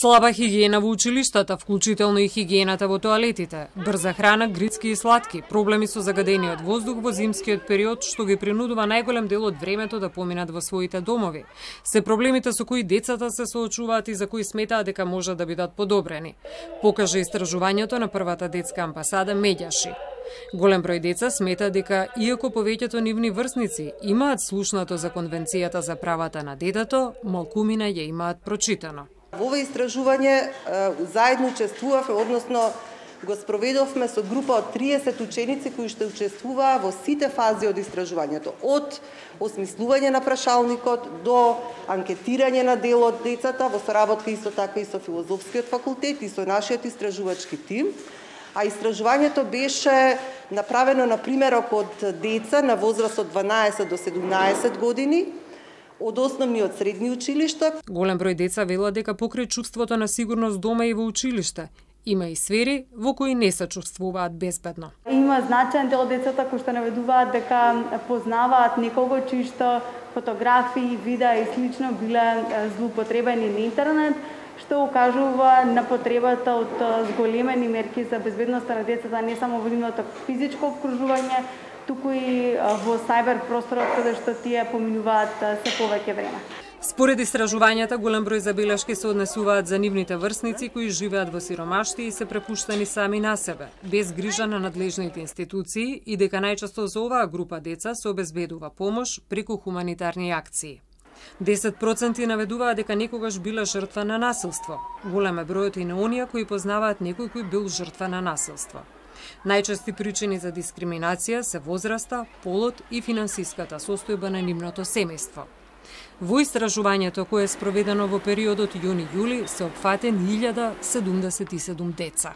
Слаба хигиена во училиштата, вклучително и хигиената во тоалетите, брза храна, грицки и сладки, проблеми со загадениот воздух во зимскиот период, што ги принудува најголем дел од времето да поминат во своите домови. Се проблемите со кои децата се соочуваат и за кои сметаат дека можат да бидат подобрени, покажа истражувањето на првата детска амбасада Медјаши. Голем број деца смета дека, иако повеќето нивни врсници имаат слушнато за Конвенцијата за правата на детето, малкумина ја имаат прочитано. Во ова истражување заедно учествувавме, односно го спроведовме со група од 30 ученици кои што учествуваа во сите фази од истражувањето, од осмислување на прашалникот до анкетирање на дел од децата во соработка исто така и со филозофскиот факултет и со нашиот истражувачки тим. А истражувањето беше направено на примерок од деца на возраст од 12 до 17 години, од основни од средни училишта. Голем број деца велат дека покрај чувството на сигурност дома и во училиште, има и сфери во кои не се чувствуваат безбедно. Има значаен дел децата кои што наведуваат дека познаваат некого чишто фотографии, видеа и слично биле злоупотребени на интернет, што укажува на потребата од зголемени мерки за безбедноста на децата не само во нивното физичко обкружување, туку и во сајбер просторот каде што тие поминуваат се повеќе време. Според истражувањата, голем број забелешки се однесуваат за нивните врсници кои живеат во сиромаштија и се препуштени сами на себе, без грижа на надлежните институции и дека најчесто за оваа група деца се обезбедува помош преку хуманитарни акции. 10% наведуваат дека некогаш биле жртва на насилство. Голем е бројот и на оние кои познаваат некој кој бил жртва на насилство. Најчести причини за дискриминација се возраста, полот и финансиската состојба на нивното семејство. Во истражувањето кое е спроведено во периодот јуни-јули се опфатени 1077 деца.